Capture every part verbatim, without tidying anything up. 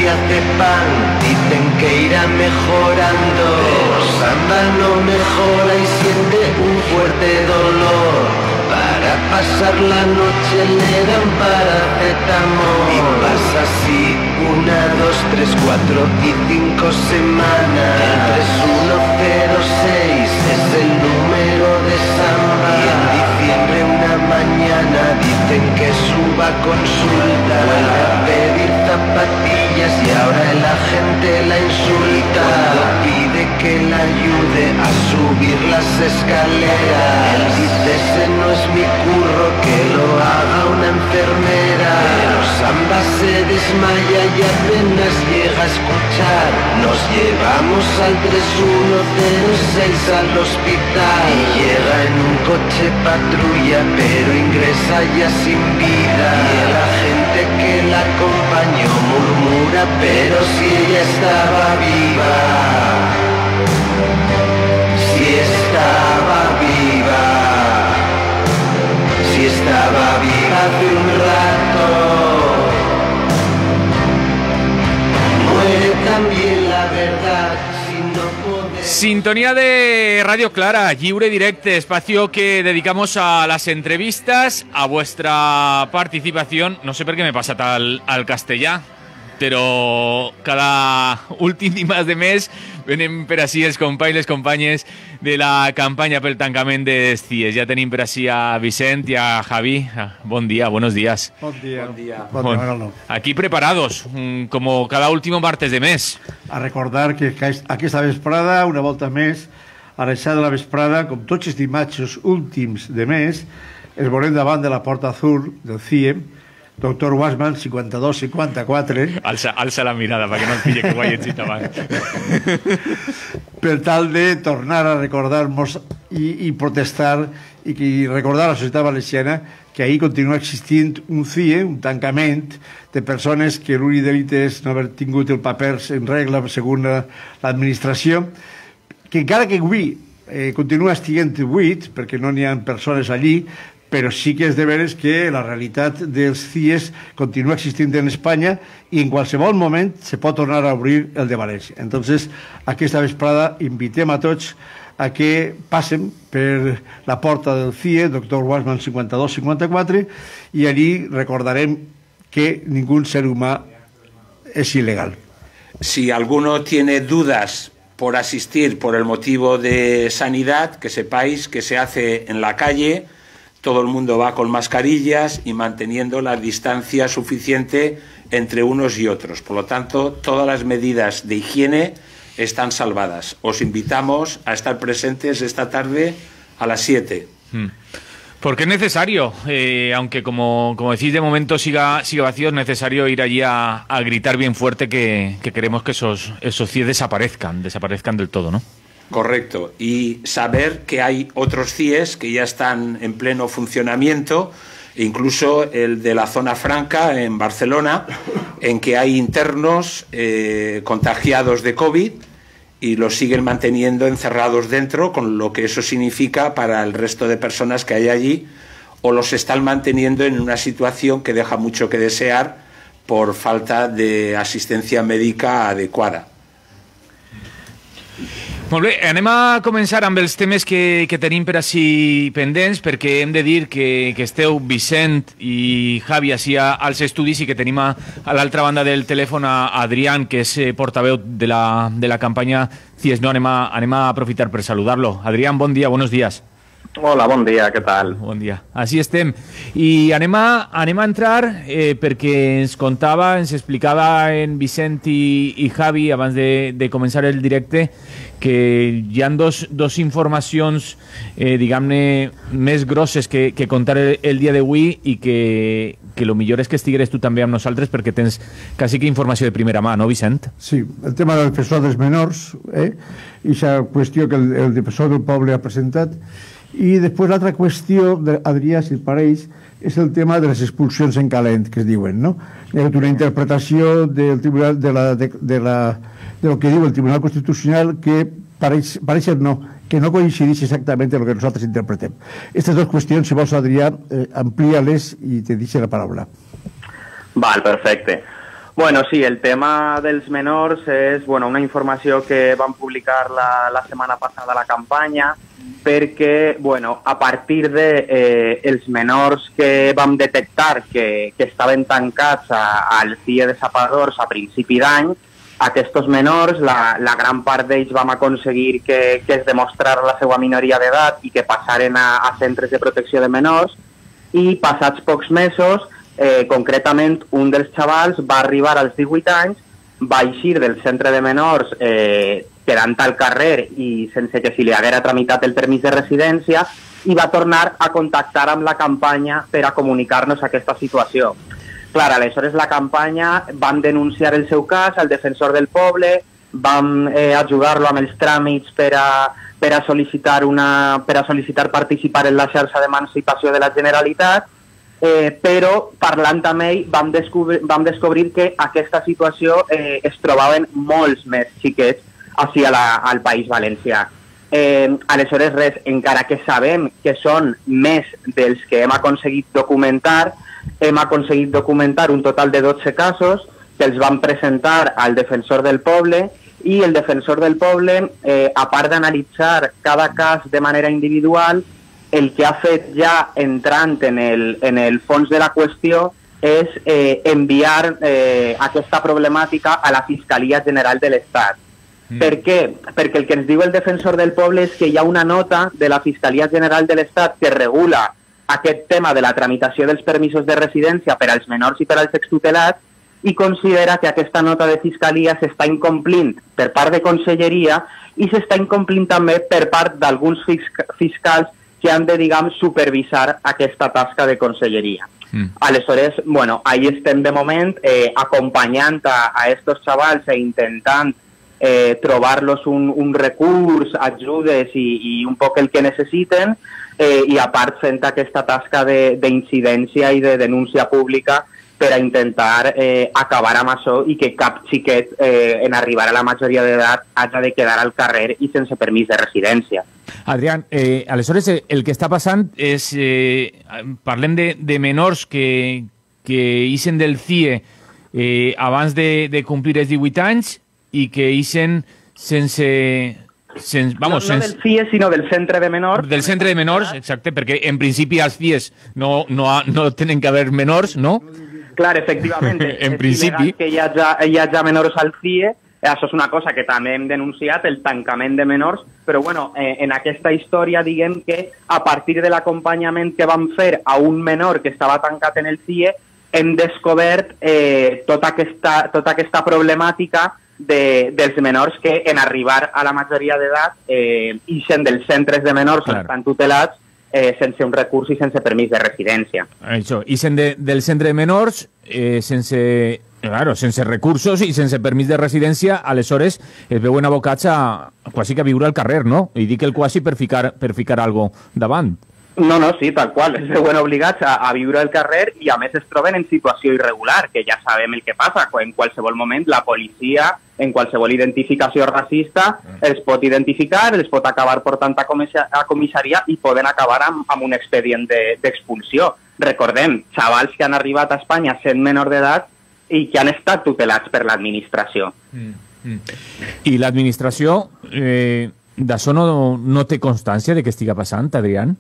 nadie hace pan, dicen que irá mejorando, pero Samba no mejora y siente un fuerte dolor. Para pasar la noche le dan paracetamol. Y pasa así una, dos, tres, cuatro y cinco semanas. El tres uno cero seis es el número de Samba. Y en diciembre una mañana dicen que suba consulta. Vuelve a pedir zapatillas y ahora la gente la insulta. Cuando pide que la ayude a subir las escaleras, él dice ese no es mi curro, que lo haga una enfermera. Pero Samba se desmaya y apenas llega a escuchar. Nos llevamos al tres uno cero seis al hospital y llega en un coche patrulla, pero ingresa ya sin vida. Y la gente que la acompañó murmura, pero si ella estaba viva, si estaba viva, si estaba viva hace un rato, muere también la verdad. Si no podemos... Sintonía de Radio Clara, Lliure Directe, espacio que dedicamos a las entrevistas, a vuestra participación. No sé por qué me pasa tal al castellà, però cada últim dimarts de mes venen per ací els companys i les companyes de la campanya pel tancament dels C I E S. Ja tenim per ací a Vicent i a Javi. Bon dia, buenos días. Bon dia. Bon dia. Bon dia, Manolo. Aquí preparados, como cada último martes de mes. A recordar que aquesta vesprada, una volta més, a les set de la vesprada, com tots els dimarts últims de mes, es veurem davant de la Porta Azul del C I E, doctor Wasman, cinquanta-dos cinquanta-quatre. Alça, alça la mirada perquè no et pille que ho hagi dit abans. Per tal de tornar a recordar-nos i, i protestar i que, recordar a la societat valenciana que ahir continua existint un C I E, un tancament de persones que l'únic delit és no haver tingut el paper en regla segons l'administració, que encara que avui eh, continua estiguent buit, perquè no n'hi ha persones allí, però sí que és de veres que la realitat dels C I E S continua existint en Espanya i en qualsevol moment se pot tornar a obrir el de València. Entonces, aquesta vesprada invitem a tots a que passen per la porta del C I E, doctor Wasman cinquanta-dos cinquanta-quatre, i allí recordarem que ningún ser humà és il·legal. Si alguno tiene dudas por asistir por el motivo de sanidad, que sepáis que se hace en la calle. Todo el mundo va con mascarillas y manteniendo la distancia suficiente entre unos y otros. Por lo tanto, todas las medidas de higiene están salvadas. Os invitamos a estar presentes esta tarde a las siete. Hmm. Porque es necesario, eh, aunque como, como decís, de momento siga, siga vacío, es necesario ir allí a, a gritar bien fuerte que, que queremos que esos, esos C I E desaparezcan, desaparezcan del todo, ¿no? Correcto, y saber que hay otros C I E S que ya están en pleno funcionamiento, incluso el de la zona franca en Barcelona, en que hay internos eh, contagiados de COVID y los siguen manteniendo encerrados dentro, con lo que eso significa para el resto de personas que hay allí, o los están manteniendo en una situación que deja mucho que desear por falta de asistencia médica adecuada. Molt bé, anem a començar amb els temes que, que tenim per així pendents, perquè hem de dir que, que esteu Vicent i Javi així als estudis i que tenim a, a l'altra banda del telèfon a Adrián, que és portaveu de la, de la campanya C I E S. No, anem a, anem a aprofitar per saludar-lo. Adrián, bon dia, buenos días. Hola, bon dia, què tal? Bon dia, així estem. I anem a, anem a entrar eh, perquè ens contava, ens explicava en Vicent i, i Javi abans de, de començar el directe que hi ha dos, dos informacions, eh, diguem-ne, més grosses que, que contar el, el dia d'avui i que, que el millor és que estigueres tu també amb nosaltres perquè tens quasi que informació de primera mà, no, Vicent? Sí, el tema del defensor dels menors, eh? i aquesta qüestió que el, el defensor del poble ha presentat. I després l'altra qüestió, Adrià, si et pareix, és el tema de les expulsions en calent, que es diuen, no? Hi ha una interpretació del tribunal, de, la, de, de, la, de lo que diu el Tribunal Constitucional que pareix, pareix no, que no coincideix exactament amb el que nosaltres interpretem. Aquestes dues qüestions, si vols, Adrià, eh, amplia-les i te deixo la paraula. Val, perfecte. Bueno, sí, el tema dels menors és bueno, una informació que vam publicar la, la setmana passada a la campanya perquè bueno, a partir de eh, els menors que vam detectar que, que estaven tancats a, al C I E de Sapadors a principi d'any, aquests menors, la, la gran part d'ells vam aconseguir que, que es demostrara la seva minoria d'edat i que passaren a, a centres de protecció de menors, i passats pocs mesos, eh, concretament un dels xavals va arribar als divuit anys, va eixir del centre de menors eh, quedant al carrer i sense que si li haguera tramitat el permís de residència, i va tornar a contactar amb la campanya per a comunicar-nos aquesta situació. Clar, aleshores la campanya vam denunciar el seu cas al defensor del poble, vam eh, ajudar-lo amb els tràmits per a, per a sol·licitar una, per a sol·licitar participar en la xarxa d'emancipació de la Generalitat, eh, però parlant amb ell vam descobrir, vam descobrir que aquesta situació eh, es trobaven molts més xiquets així a la, al País Valencià. Eh, aleshores, res, encara que sabem que són més dels que hem aconseguit documentar, hem aconseguit documentar un total de dotze casos que els vam presentar al defensor del poble, i el defensor del poble, eh, a part d'analitzar cada cas de manera individual, el que ha fet ja entrant en el, en el fons de la qüestió és eh, enviar eh, aquesta problemàtica a la Fiscalia General de l'Estat. Mm. Per què? Perquè el que ens diu el defensor del poble és que hi ha una nota de la Fiscalia General de l'Estat que regula aquest tema de la tramitació dels permisos de residència per als menors i per als extutelats, i considera que aquesta nota de Fiscalia s'està incomplint per part de Conselleria i s'està incomplint també per part d'alguns fiscals que han de, diguem, supervisar aquesta tasca de Conselleria. Mm. Aleshores, bueno, ahí estem de moment eh, acompanyant a, a estos xavals e intentant eh, trobar-los un, un recurs, ajudes i, i un poc el que necessiten, eh, i a part fent aquesta tasca d'incidència i de denúncia pública per a intentar eh, acabar amb això i que cap xiquet eh, en arribar a la majoria d'edat hagi de quedar al carrer i sense permís de residència. Adrián, eh, aleshores el que està passant és, eh, parlem de, de menors que, que ixen del C I E eh, abans de, de complir els divuit anys i que ixen sense... Sen, vamos, no, no del C I E, sinó del centre de menors. Del centre de menors, exacte, perquè en principi als C I Es no, no, no tenen que haver menors, no? Clar, efectivament, en principi que hi hagi, hi hagi menors al C I E, això és una cosa que també hem denunciat, el tancament de menors, però bueno, eh, en aquesta història diguem que a partir de l'acompanyament que vam fer a un menor que estava tancat en el C I E, hem descobert eh, tota, aquesta, tota aquesta problemàtica de, dels menors que en arribar a la majoria d'edat eh, ixen dels centres de menors on estan tutelats Eh, sense un recurs i sense permís de residència. Això, i de, del centre de menors, eh, sense, claro, sense recursos i sense permís de residència, aleshores es veuen abocats a quasi que a viure al carrer, no? I dic el quasi per ficar, per ficar algo davant. No, no, sí, tal qual. Es veuen obligats a, a viure al carrer i a més es troben en situació irregular, que ja sabem el que passa. En qualsevol moment la policia, en qualsevol identificació racista, els pot identificar, els pot acabar portant a, a comissaria i poden acabar amb, amb un expedient d'expulsió. De, Recordem, xavals que han arribat a Espanya sent menor d'edat i que han estat tutelats per l'administració. Mm, mm. I l'administració eh, d'això no, no té constància de què estiga passant, Adrián?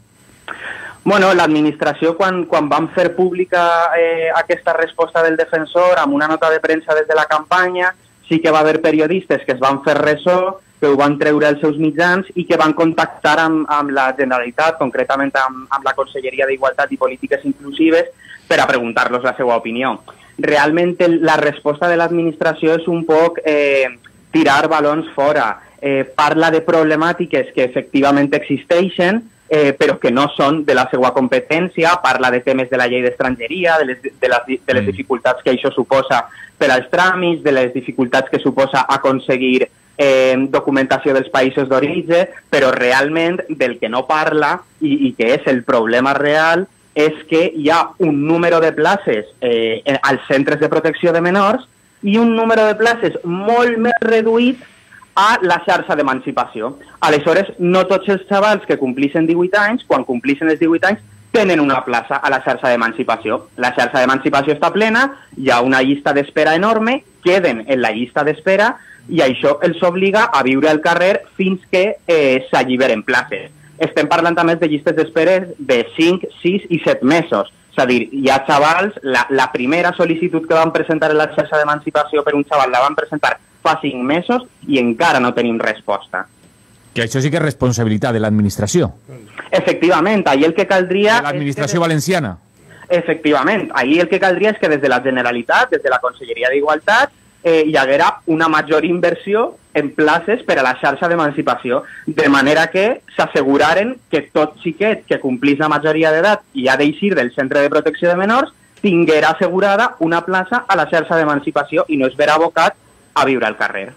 Bueno, l'administració, quan, quan van fer pública eh, aquesta resposta del defensor amb una nota de premsa des de la campanya, sí que va haver periodistes que es van fer ressò, que ho van treure als seus mitjans i que van contactar amb, amb la Generalitat, concretament amb, amb la Conselleria d'Igualtat i Polítiques Inclusives, per a preguntar-los la seva opinió. Realment la resposta de l'administració és un poc eh, tirar balons fora. Eh, parla de problemàtiques que efectivament existeixen, Eh, però que no són de la seva competència, parla de temes de la llei d'estrangeria, de, les, de, les, de les dificultats que això suposa per als tràmits, de les dificultats que suposa aconseguir eh, documentació dels països d'origen, però realment del que no parla i, i que és el problema real és que hi ha un número de places eh, als centres de protecció de menors i un número de places molt més reduït a la xarxa d'emancipació. Aleshores, no tots els xavals que complixen divuit anys, quan complixen els divuit anys, tenen una plaça a la xarxa d'emancipació. La xarxa d'emancipació està plena, hi ha una llista d'espera enorme, queden en la llista d'espera i això els obliga a viure al carrer fins que eh, s'alliberen places. Estem parlant també de llistes d'espera de cinc, sis i set mesos. És a dir, hi ha xavals, la, la primera sol·licitud que van presentar en la xarxa d'emancipació per un xaval la van presentar fa cinc mesos i encara no tenim resposta. Que això sí que és responsabilitat de l'administració. Efectivament, ahir el que caldria... De l'administració que... valenciana. Efectivament, ahir el que caldria és que des de la Generalitat, des de la Conselleria d'Igualtat, eh, hi haguera una major inversió en places per a la xarxa d'emancipació, de manera que s'asseguraren que tot xiquet que complís la majoria d'edat i ha d'eixir del centre de protecció de menors tinguera assegurada una plaça a la xarxa d'emancipació i no es verà abocat a viure al carrer.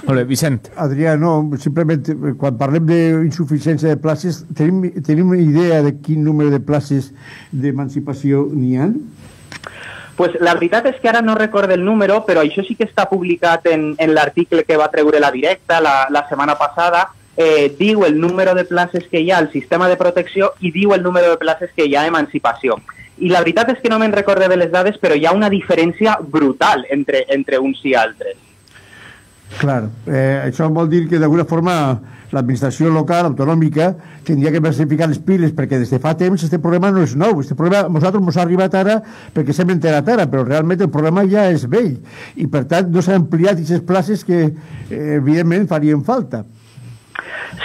Hola, Vicent. Adrià, no, simplement, quan parlem d'insuficiència de places, tenim, tenim una idea de quin número de places d'emancipació n'hi ha? Pues la veritat és que ara no recordo el número, però això sí que està publicat en, en l'article que va treure la Directa la, la setmana passada. Eh, diu el número de places que hi ha al sistema de protecció i diu el número de places que hi ha a emancipació. I la veritat és que no me'n recordo de les dades, però hi ha una diferència brutal entre, entre uns i altres. Clar, eh, això vol dir que d'alguna forma l'administració local, autonòmica, tindria que versificar les piles, perquè des de fa temps aquest problema no és nou. Aquest problema a nosaltres ens ha arribat ara perquè s'hem enterat ara, però realment el problema ja és vell i per tant no s'han ampliat aquestes places que eh, evidentment farien falta.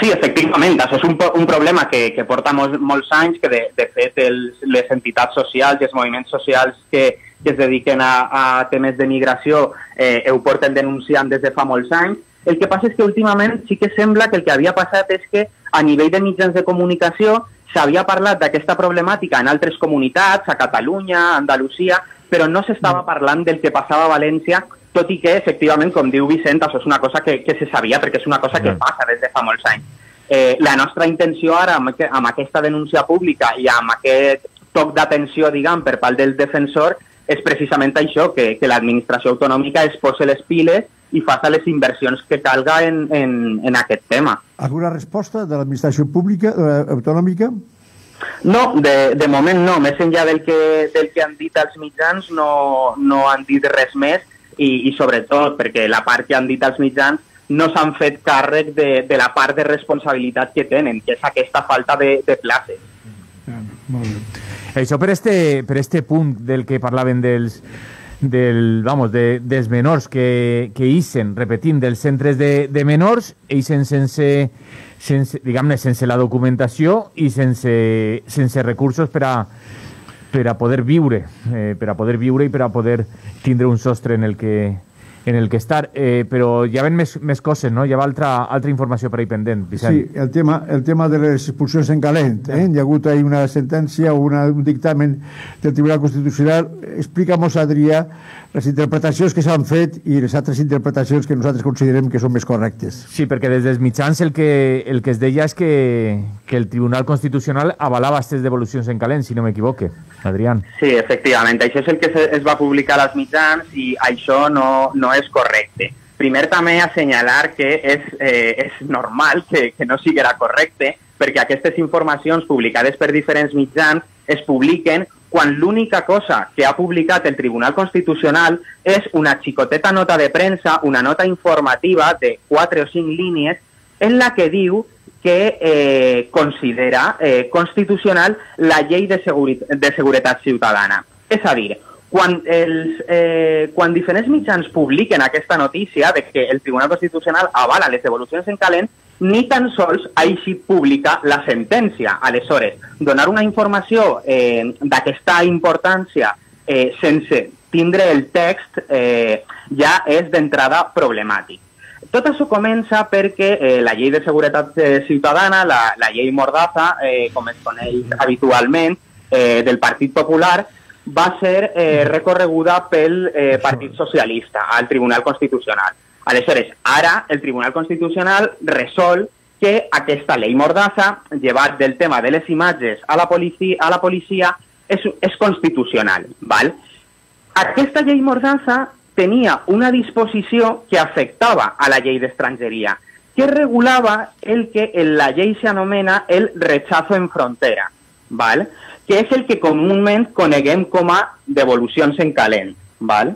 Sí, efectivament, això és un, un problema que, que porta molts, molts anys, que de, de fet els, les entitats socials i els moviments socials que, que es dediquen a, a temes de migració eh, ho porten denunciant des de fa molts anys. El que passa és que últimament sí que sembla que el que havia passat és que a nivell de mitjans de comunicació s'havia parlat d'aquesta problemàtica en altres comunitats, a Catalunya, a Andalusia, però no s'estava parlant del que passava a València, tot i que, efectivament, com diu Vicent, això és una cosa que, que se sabia, perquè és una cosa que passa des de fa molts anys. Eh, la nostra intenció ara, amb, amb aquesta denúncia pública i amb aquest toc d'atenció, diguem, per part del defensor, és precisament això, que, que l'administració autonòmica es posi les piles i faci les inversions que calga en, en, en aquest tema. Alguna resposta de l'administració pública, eh, autonòmica? No, de, de moment no. Més enllà del que, del que han dit els mitjans, no, no han dit res més i, i sobretot perquè la part que han dit els mitjans no s'han fet càrrec de, de la part de responsabilitat que tenen, que és aquesta falta de, de places. Ah, molt bé. Això per este, per este punt del que parlaven dels, del, vamos, de, dels menors que, que ixen, repetim, dels centres de, de menors, ixen sense, sense, diguem-ne, sense la documentació i sense, sense recursos per a, per a poder viure, eh, per a poder viure i per a poder tindre un sostre en el que, en el que estar, eh, però hi ha més, més coses, no? Hi ha altra, altra informació per ahí pendent, Vicent. Sí, el tema, el tema de les expulsions en calent. Eh? Hi ha hagut ahí una sentència o una, un dictamen del Tribunal Constitucional. Explica'm-nos, Adrià, les interpretacions que s'han fet i les altres interpretacions que nosaltres considerem que són més correctes. Sí, perquè des dels mitjans el que, el que es deia és que, que el Tribunal Constitucional avalava aquestes devolucions en calent, si no m'equivoque. Adrián. Sí, efectivament. Això és el que es va publicar als mitjans i això no, no és correcte. Primer també assenyalar que és, eh, és normal que, que no siguera correcte perquè aquestes informacions publicades per diferents mitjans es publiquen quan l'única cosa que ha publicat el Tribunal Constitucional és una xicoteta nota de premsa, una nota informativa de quatre o cinc línies en la que diu que eh, considera eh, constitucional la llei de, segurit de seguretat ciutadana. És a dir, quan, els, eh, quan diferents mitjans publiquen aquesta notícia de que el Tribunal Constitucional avala les devolucions en calent, ni tan sols ha eixit pública la sentència. Aleshores, donar una informació eh, d'aquesta importància eh, sense tindre el text eh, ja és d'entrada problemàtic. Tot això comença perquè eh, la llei de seguretat eh, ciutadana, la, la llei Mordaza, eh, com es coneix habitualment, eh, del Partit Popular, va ser eh, recorreguda pel eh, Partit Socialista al Tribunal Constitucional. Aleshores, ara el Tribunal Constitucional resol que aquesta llei Mordaza, llevat del tema de les imatges a la policia, a la policia és, és constitucional. Val? Aquesta llei Mordaza tenia una disposició que afectava a la llei d'estrangeria, que regulava el que en la llei s'anomena el rechazo en frontera. val? Que és el que comúment coneguem com a devolucions en calent. Val?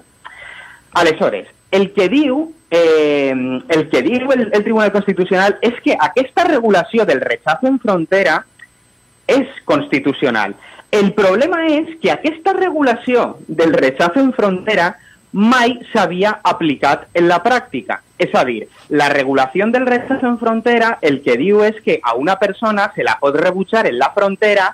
Aleshores, el que diu, eh, el, que diu el, el Tribunal Constitucional és que aquesta regulació del rechazo en frontera és constitucional. El problema és que aquesta regulació del rechazo en frontera mai s'havia aplicat en la pràctica. És a dir, la regulació del rechazo en frontera el que diu és que a una persona se la pot rebutjar en la frontera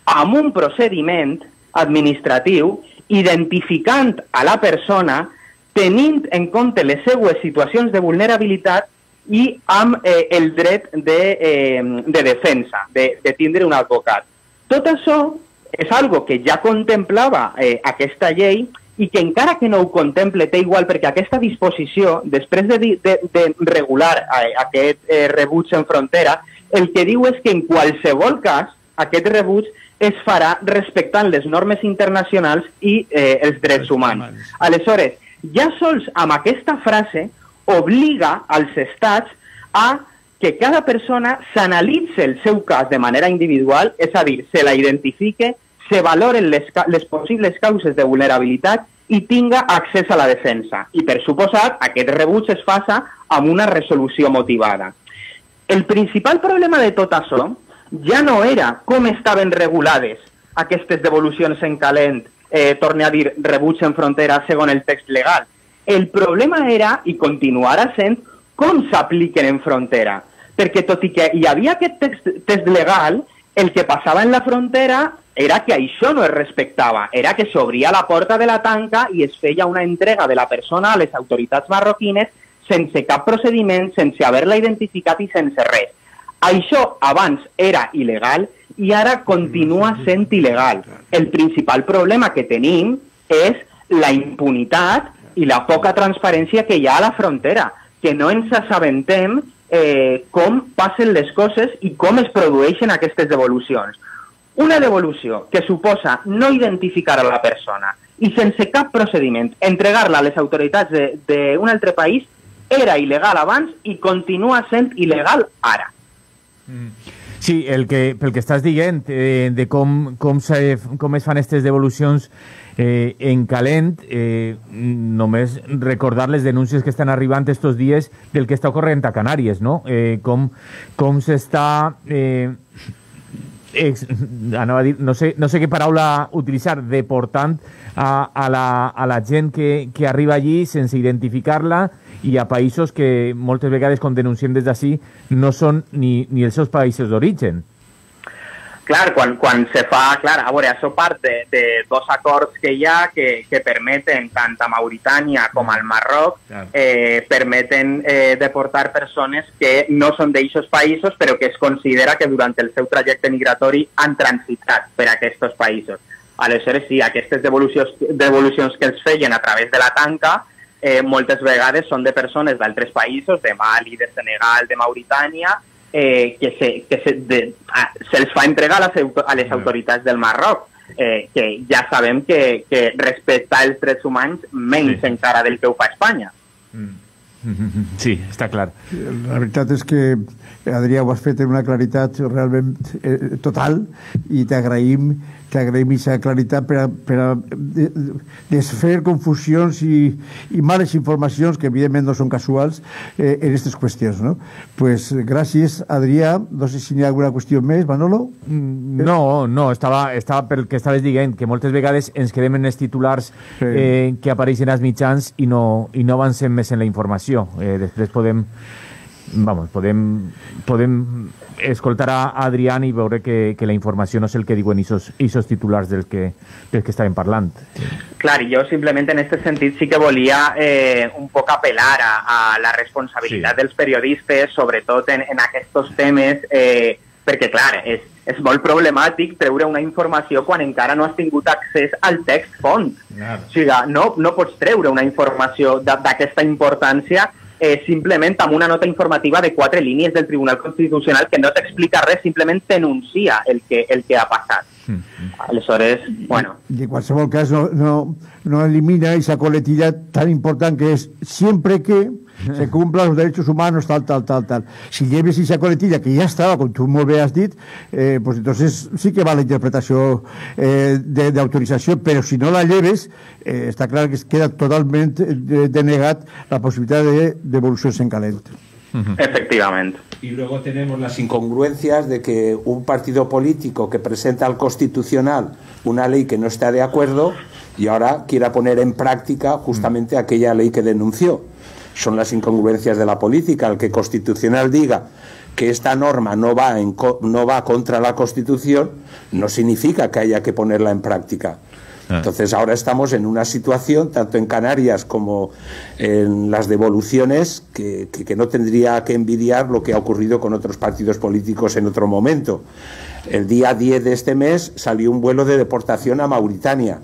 amb un procediment administratiu identificant a la persona, tenint en compte les seues situacions de vulnerabilitat i amb eh, el dret de, eh, de defensa, de, de tindre un advocat. Tot això és algo que ja contemplava eh, aquesta llei i que encara que no ho contemple té igual perquè aquesta disposició, després de, de, de regular eh, aquest eh, rebuig en frontera, el que diu és que en qualsevol cas aquest rebuig es farà respectant les normes internacionals i eh, els drets humans. Aleshores, ja sols amb aquesta frase obliga als estats a que cada persona s'analitzi el seu cas de manera individual, és a dir, se la identifique, se valoren les, les possibles causes de vulnerabilitat i tinga accés a la defensa. I, per suposat, aquest rebuig es faça amb una resolució motivada. El principal problema de tot això ja no era com estaven regulades aquestes devolucions en calent, eh, torne a dir, rebuig en frontera segons el text legal. El problema era, i continuarà sent, com s'apliquen en frontera. Perquè tot i que hi havia aquest text, text legal, el que passava en la frontera era que això no es respectava, era que s'obria la porta de la tanca i es feia una entrega de la persona a les autoritats marroquines sense cap procediment, sense haver-la identificat i sense res. Això abans era il·legal i ara continua sent il·legal. El principal problema que tenim és la impunitat i la poca transparència que hi ha a la frontera, que no ens assabentem eh, com passen les coses i com es produeixen aquestes devolucions. Una devolució que suposa no identificar a la persona i sense cap procediment entregar-la a les autoritats d'un altre país era il·legal abans i continua sent il·legal ara. Sí, el que, pel que estàs dient eh, de com, com, se, com es fan aquestes devolucions eh, en calent, eh, només recordar les denúncies que estan arribant estos dies del que està ocorrent a Canàries, no? Eh, com com s'està... Eh, ex, anava a dir, no sé, no sé què paraula utilitzar, deportant a, a, la, a la gent que, que arriba allí sense identificar-la i a països que moltes vegades, com denunciem des d'ací, no són ni, ni els seus països d'origen. Clar, quan, quan se fa, clar, a veure, això part de, de dos acords que hi ha que, que permeten, tant a Mauritània com al Marroc, eh, permeten eh, deportar persones que no són d'eixos països, però que es considera que durant el seu trajecte migratori han transitat per aquests països. Aleshores, sí, aquestes devolucions, devolucions que els feien a través de la tanca, eh, moltes vegades són de persones d'altres països, de Mali, de Senegal, de Mauritània, Eh, que, se, que se, de, a, se'ls fa entregar a les, a les autoritats del Marroc, eh, que ja sabem que, que respectar els drets humans menys sí. encara del que ho fa Espanya. Mm. Sí, està clar. La veritat és que, Adrià, ho has fet en una claritat realment eh, total i t'agraïm t'agraïm aquesta claritat per a, per a desfer confusions i, i males informacions que evidentment no són casuals eh, en aquestes qüestions, no? Pues gràcies, Adrià. No sé si n'hi ha alguna qüestió més, Manolo? No, no, estava, estava pel que estaves dient, que moltes vegades ens quedem en els titulars sí. eh, que apareixen als mitjans i no, i no avancem més en la informació. Eh, després podem vamos, podem, podem escoltar a Adrián i veure que, que la informació no és el que diuen aquests titulars del que, del que estàvem parlant. Clar, jo simplement en aquest sentit sí que volia eh, un poc apel·lar a, a la responsabilitat sí. dels periodistes, sobretot en, en aquests temes, eh, perquè clar, és, és molt problemàtic treure una informació quan encara no has tingut accés al text font. Claro. O sigui, no, no pots treure una informació d'aquesta importància Eh, simplement amb una nota informativa de quatre línies del Tribunal Constitucional que no t'explica res, simplement t'enuncia el que, el que ha passat. Aleshores, bueno... De qualsevol cas, no, no, no elimina esa coletilla tan important que es siempre que se cumplan los derechos humanos, tal, tal, tal, tal. Si lleves esa coletilla que ya estaba, com tu molt bé has dit, eh, pues entonces sí que va la interpretació eh, de, de autorizació, però si no la lleves, eh, està clar que queda totalment denegat la possibilitat de devolucions en calent. Efectivamente. Y luego tenemos las incongruencias de que un partido político que presenta al Constitucional una ley que no está de acuerdo y ahora quiera poner en práctica justamente aquella ley que denunció. Son las incongruencias de la política. El que Constitucional diga que esta norma no va, en, no va contra la Constitución no significa que haya que ponerla en práctica. Entonces ahora estamos en una situación, tanto en Canarias como en las devoluciones, que, que, que no tendría que envidiar lo que ha ocurrido con otros partidos políticos en otro momento. El día diez de este mes salió un vuelo de deportación a Mauritania,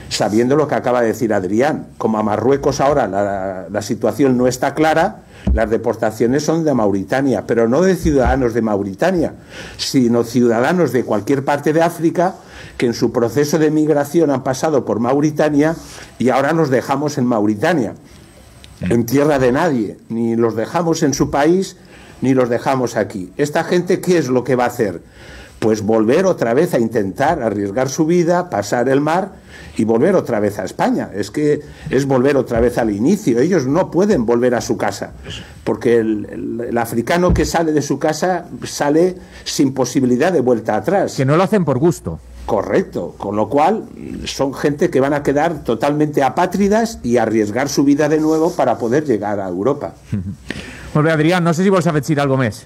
sabiendo lo que acaba de decir Adrián. Como a Marruecos ahora la, la situación no está clara, las deportaciones son de Mauritania, pero no de ciudadanos de Mauritania, sino ciudadanos de cualquier parte de África que en su proceso de migración han pasado por Mauritania y ahora los dejamos en Mauritania, en tierra de nadie, ni los dejamos en su país, ni los dejamos aquí. ¿Esta gente qué es lo que va a hacer? Pues volver otra vez a intentar arriesgar su vida, pasar el mar y volver otra vez a España. Es que es volver otra vez al inicio. Ellos no pueden volver a su casa, porque el, el, el africano que sale de su casa sale sin posibilidad de vuelta atrás. Que no lo hacen por gusto. Correcto, con lo cual son gente que van a quedar totalmente apátridas y arriesgar su vida de nuevo para poder llegar a Europa. Molt bé, Adrián, no sé si vols afegir algo més.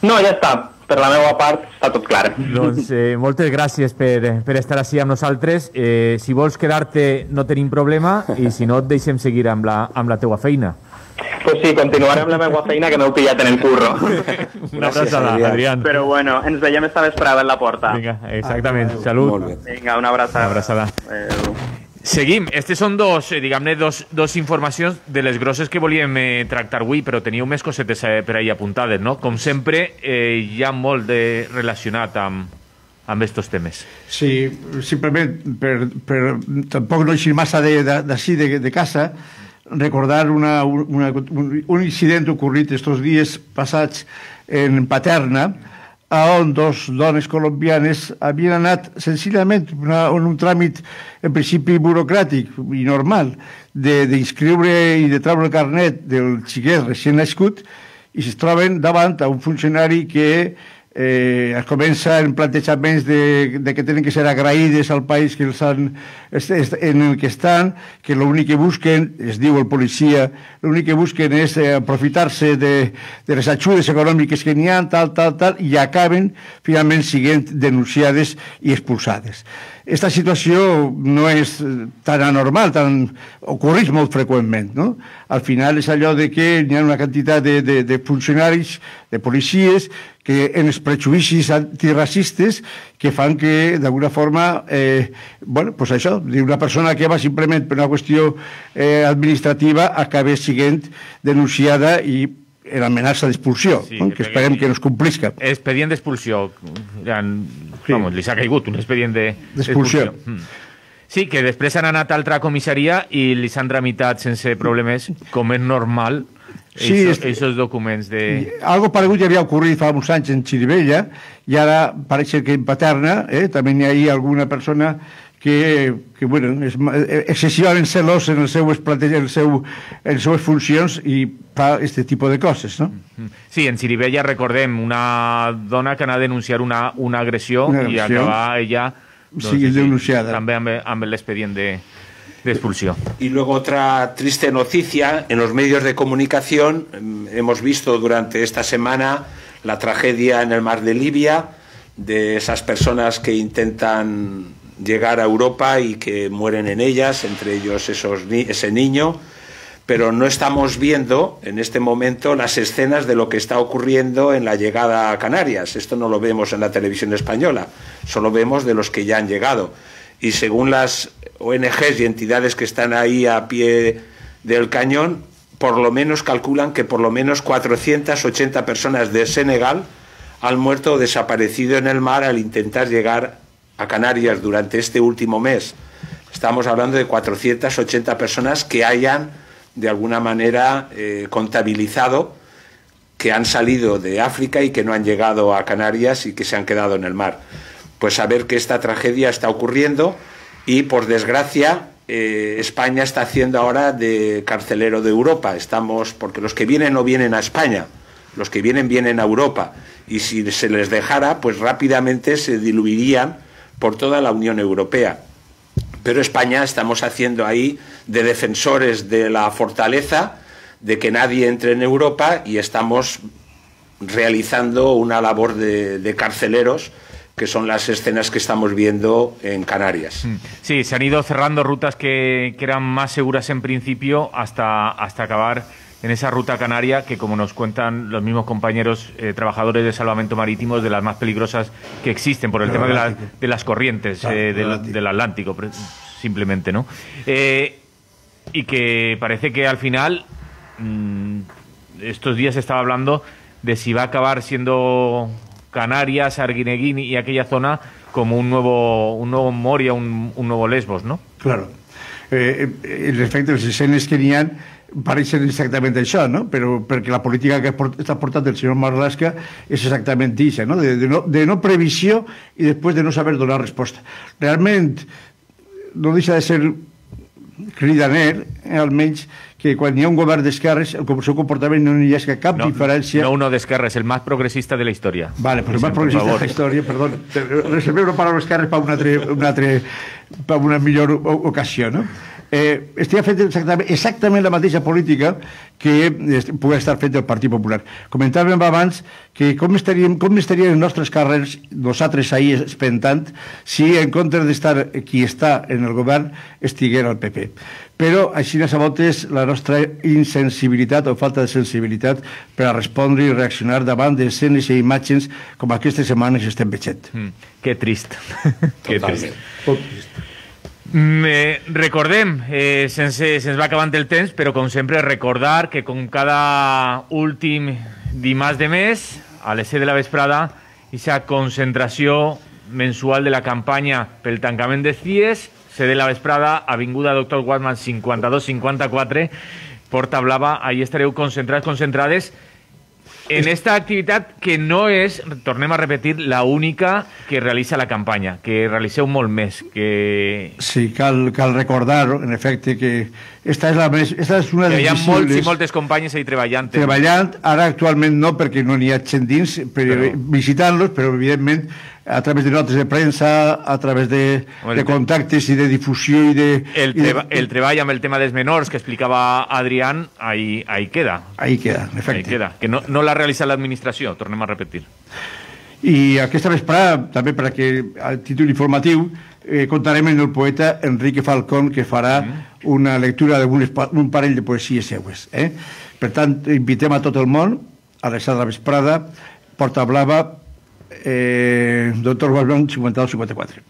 No, ja està. Per la meva part està tot clar. Doncs eh, moltes gràcies per, per estar així amb nosaltres. Eh, si vols quedar-te no tenim problema i si no et deixem seguir amb la, amb la teua feina. Pues sí, continuaré amb la meva feina que m'heu pillat en el curro. Una abraçada, Adrián. Però bueno, ens veiem esta vesprada en la porta. Vinga, exactament. Salut. Vinga, una abraçada. Una abraçada. Adéu. Seguim. Estes són dos, eh, diguem-ne, dos, dos informacions de les grosses que volíem eh, tractar avui, però teníeu més cosetes eh, per ahí apuntades, no? Com sempre, eh, hi ha molt de relacionat amb, amb estos temes. Sí, simplement per, per tampoc no eixir massa d'ací de, de, de casa, recordar una, una, un, un incident ocorrit estos dies passats en Paterna, on dos dones colombianes havien anat senzillament una, en un tràmit en principi burocràtic i normal d'inscriure i de treure el carnet del xiquet recient nascut i es troben davant a un funcionari que eh, es comença en plantejaments de, de que tenen que ser agraïdes al país que els han, en el que estan, que l'únic que busquen, es diu el policia, l'únic que busquen és eh, aprofitar-se de, de les ajudes econòmiques que n'hi ha, tal, tal, tal, i acaben finalment siguent denunciades i expulsades. Esta situació no és tan anormal, tan, ocorreix molt freqüentment, no? Al final és allò de que hi ha una quantitat de, de, de funcionaris, de policies, que en els prejudicis antiracistes que fan que, d'alguna forma, eh, bueno, pues això, una persona que va simplement per una qüestió eh, administrativa acabe siguent denunciada i en amenaça d'expulsió, sí, no? Que esperem que no es complisca. Expedient d'expulsió. Sí. Vamos, li s'ha caigut un expedient d'expulsió. De, sí, que després han anat a altra comissaria i li s'han tramitat sense problemes, com és normal, sí, esos, esos documents de... Algo paregut ja havia ocorrit fa uns anys en Xirivella i ara pareix que en Paterna eh, també hi ha alguna persona que, que bueno, és excessivament celós en el seu, en el seu, en les seves funcions i fa aquest tipus de coses, no? Sí, en Xirivella recordem una dona que anà a denunciar una, una, agressió, una agressió i acabà ella doncs, sí, denunciada. També amb, amb l'expedient de... de expulsión. Y luego otra triste noticia, en los medios de comunicación hemos visto durante esta semana la tragedia en el mar de Libia, de esas personas que intentan llegar a Europa y que mueren en ellas, entre ellos esos, ese niño, pero no estamos viendo en este momento las escenas de lo que está ocurriendo en la llegada a Canarias. Esto no lo vemos en la televisión española, solo vemos de los que ya han llegado. Y según las O N Ges y entidades que están ahí a pie del cañón, por lo menos calculan que por lo menos cuatrocientas ochenta personas de Senegal han muerto o desaparecido en el mar al intentar llegar a Canarias durante este último mes, estamos hablando de cuatrocientas ochenta personas que hayan de alguna manera eh, contabilizado que han salido de África y que no han llegado a Canarias y que se han quedado en el mar. Pues saber que esta tragedia está ocurriendo y, por desgracia, eh, España está haciendo ahora de carcelero de Europa. Estamos, porque los que vienen no vienen a España, los que vienen vienen a Europa. Y si se les dejara, pues rápidamente se diluirían por toda la Unión Europea. Pero España estamos haciendo ahí de defensores de la fortaleza, de que nadie entre en Europa, y estamos realizando una labor de, de carceleros, que son las escenas que estamos viendo en Canarias. Sí, se han ido cerrando rutas que, que eran más seguras en principio hasta, hasta acabar en esa ruta canaria que, como nos cuentan los mismos compañeros eh, trabajadores de salvamento marítimo, es de las más peligrosas que existen por el Pero tema de, la, de las corrientes ah, eh, del, Atlántico. del Atlántico, simplemente, ¿no? Eh, y que parece que al final, mmm, estos días se estaba hablando de si va a acabar siendo Canarias, Arguineguín y aquella zona como un nuevo, un nuevo Moria, un, un nuevo Lesbos, ¿no? Claro. Eh, eh, respecte als escenes que n'hi ha, pareixen exactament això, no? Però perquè la política que està portant el senyor Marlaska és exactament això, no? De, de, no, de no previsió i després de no saber donar resposta. Realment no deixa de ser cridaner, eh, almenys, que quan hi ha un govern d'esquerres el seu comportament no hi ha cap no, diferència. No uno d'esquerres, el més progressista de la història. Vale, però el més progressista de la història, perdó, reserveu una paraula esquerres per una, una, per una millor ocasió, no? Eh, estic fent exactament, exactament la mateixa política que pugui estar fent el Partit Popular. Comentàvem abans que com estarien, com estarien els nostres carrers, nosaltres ahir espentant, si en comptes d'estar qui està en el govern estiguera el P P. Però així a voltes la nostra insensibilitat o falta de sensibilitat per a respondre i reaccionar davant d'escenes i imatges com aquestes setmanes estem veient. Mm, que trist. Que trist. Molt trist. Eh, recordem, eh, sense, se'ns va acabant el temps, però com sempre recordar que com cada últim dimarts de mes, a les set de la vesprada, aquesta concentració mensual de la campanya pel tancament de C I E S, set de la vesprada, Avinguda Doctor Guadman cinquanta-dos cinquanta-quatre, Porta Blava, ahí estareu concentrats, concentrades en esta activitat que no és, tornem a repetir, la única que realitza la campanya, que realitzeu molt més. Que... Sí, cal, cal recordar, en efecte, que esta és, la més, esta és una de les visibles. Hi ha molts i moltes companyes ahí treballant. Treballant, ara actualment no, perquè no n'hi ha gent dins, però, visitant-los, però evidentment a través de notes de premsa, a través de, de contactes i de difusió i de... El, treba, i de... el treball amb el tema dels menors que explicava Adrián, ahí, ahí queda. Ahí queda, en efecte. Ahí queda, que no, no l'ha realitzat l'administració, tornem a repetir. I aquesta vesprada, també per a que a títol informatiu, eh, contarem amb el poeta Enrique Falcón, que farà mm. una lectura d'un parell de poesies seues. Eh? Per tant, invitem a tot el món a les set de la vesprada, Porta Blava, Eh, Doctor Guadman cinquanta-dos cinquanta-quatre.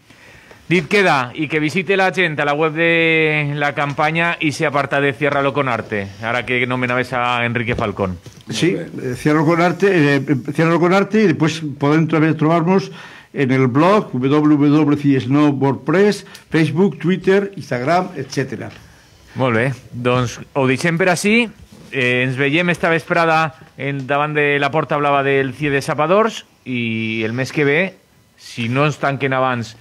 Dit queda, y que visite la gente a la web de la campaña y se aparta de Ciérralo con Arte, ahora que nomenabas a Enrique Falcón. Sí, eh, Ciérralo con Arte, eh, Ciérralo con Arte, y después podem trobar-nos en el blog w w w punt c i e s no punt wordpress, Facebook, Twitter, Instagram, etcètera. Molt bé, doncs ho deixem per així. Eh, ens veiem esta vesprada en, davant de la Porta Blava del C I E de Sapadors i el mes que ve, si no ens tanquen abans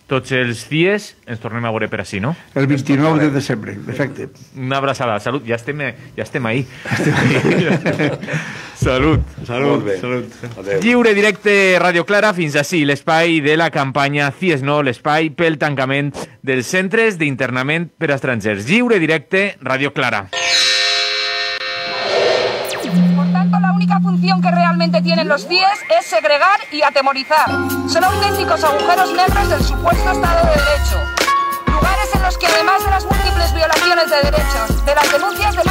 tots els C I Es, ens tornem a veure per així, no? El vint-i-nou de desembre, perfecte. Una abraçada, salut, ja estem, ja estem ahí. Salut. Salut, salut. Adeu. Lliure directe Radio Clara, fins així l'espai de la campanya C I E S No, l'espai pel tancament dels centres d'internament per a estrangers. Lliure directe Radio Clara. Por tanto, la única función que realmente tienen los C I E S es segregar y atemorizar. Son auténticos agujeros negros del supuesto Estado de Derecho. Lugares en los que, además de las múltiples violaciones de derechos, de las denuncias de